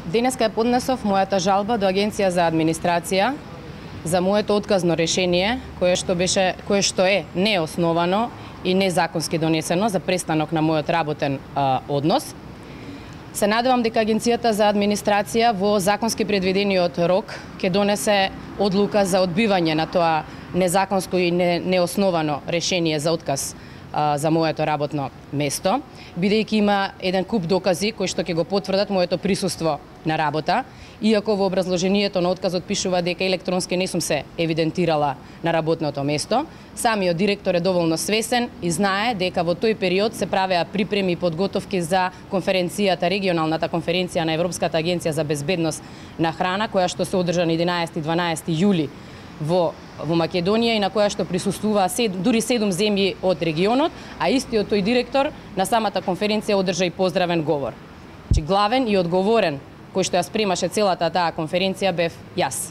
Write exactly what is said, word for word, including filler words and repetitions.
Денеска ја поднесов мојата жалба до Агенција за администрација за моето отказно решение, кое што беше кое што е неосновано и незаконски донесено за престанок на мојот работен а, однос. Се надевам дека Агенцијата за администрација во законски предвидениот рок ќе донесе одлука за одбивање на тоа незаконско и не, неосновано решение за отказ а, за моето работно место, бидејќи има еден куп докази кои што ќе го потврдат моето присуство на работа, иако во образложението на отказот пишува дека електронски не сум се евидентирала на работното место. Самиот директор е доволно свесен и знае дека во тој период се правеа припреми и подготовки за конференцијата, регионалната конференција на Европската агенција за безбедност на храна, која што се одржа на единаесети и дванаесети јули во во Македонија и на која што присуствуваа сед, дури седум земји од регионот, а истиот тој директор на самата конференција одржа и поздравен говор. Значи главен и одговорен кој што ја спремаше целата таа конференција бев јас.